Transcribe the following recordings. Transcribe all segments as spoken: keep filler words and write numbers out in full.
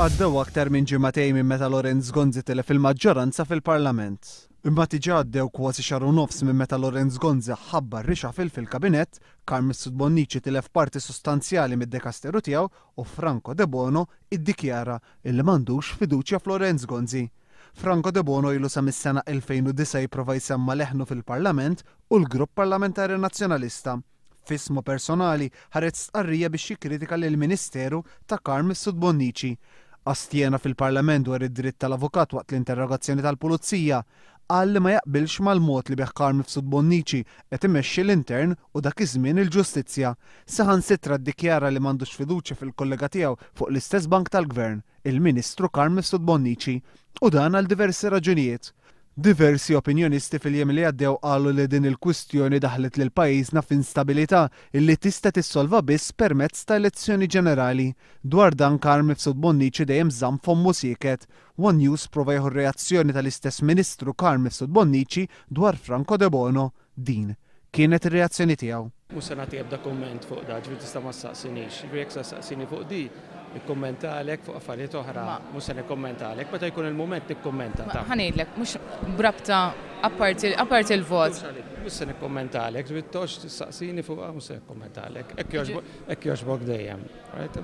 Għaddew aktar minn ġimagħtejn minn meta Lawrence Gonzi tilef il-maġġoranza fil-Parlament. Imma diġà għaddew kważi xahar u nofs minn meta Lawrence Gonzi ħabbar reshuffle fil-kabinett, Carm Mifsud Bonnici tilef parti sostanzjali mid-dekasteru tiegħu u Franco Debono iddikjara illi m'għandux fiduċja f'Lawrence Gonzi. Franco Debono ilu sa mis-sena elfejn u disgħa jipprova jsemma leħnu fil-Parlament u l-Grupp Parlamentari Nazzjonalista. F'ismu personali ħareġ stqarrija biex jikkritika lill-Ministeru ta' Carm Mifsud Bonnici. Astjena fil-Parlament dwar id-dritt tal-avukat waqt l-interrogazzjoni tal-Pulizija, qal li ma jaqbilx mal-mod li bih Carm Mifsud Bonnici qed imexxi l-intern u dak iż-żmien il-ġustizzja. Saħansitra ddikjara li m'għandux fiduċja fil-kollega tiegħu fuq l-istess bank tal-Gvern, il-Ministru Carm Mifsud Bonnici, u dan għal diversi raġunijiet. Diversi opinjonisti fil-jiem li għaddew qalu li din il-kwistjoni daħlet lil pajjiżna f'instabilità illi tista' tissolva biss permezz ta' elezzjoni ġenerali. Dwar dan Carm Mifsud Bonnici dejjem żamm fommu sieket. One News prova jieħu reazzjoni tal-istess Ministru Carm Mifsud Bonnici dwar Franco Debono. Din kienet ir-reazzjoni tiegħu. Mhux se nagħti ebda kumment fuq da, ġifieri tista' ma ssaqsinix. Ġifieri jekk saqsini fuq di, nikkummentalek fuq affarijiet oħra, mhux se nikkummentalek, meta jkun il-mument nikkummenta. Ħa ngħidlek, mhux brabta apparti apparti il-vot. Mhux se nikkummentalek, ġifieri toqgħodx tistaqsini fuq, mhux se nikkummentalek. Hekk jogħġbok dejjem.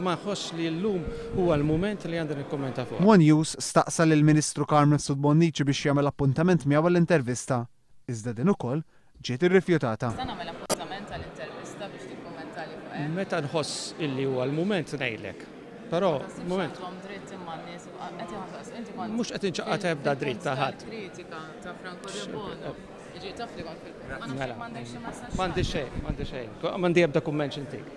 Ma nħossx li llum huwa l-mument li għandi nikkummenta fuq. One News staqsa lill-Ministru Carm Mifsud Bonnici biex jagħmel appuntament miegħu għall-intervista. Iżda din ukoll ġiet irrifjutata. Tista' nagħmel appuntament għall-intervista biex tikkummentali fuq hekk? Meta nħoss illi huwa l-mument ngħidlek. Però, moment. Dritt imma n-nies qed iħassas, inti kont Mhux qed inċaqqat ebda dritt ta' ħadd. Kritika ta' Franco Debono. Jiġi taf li kont fil- Mela. M'għandi xejn, m'għandi xejn. M'għandi ebda kumment x'intik.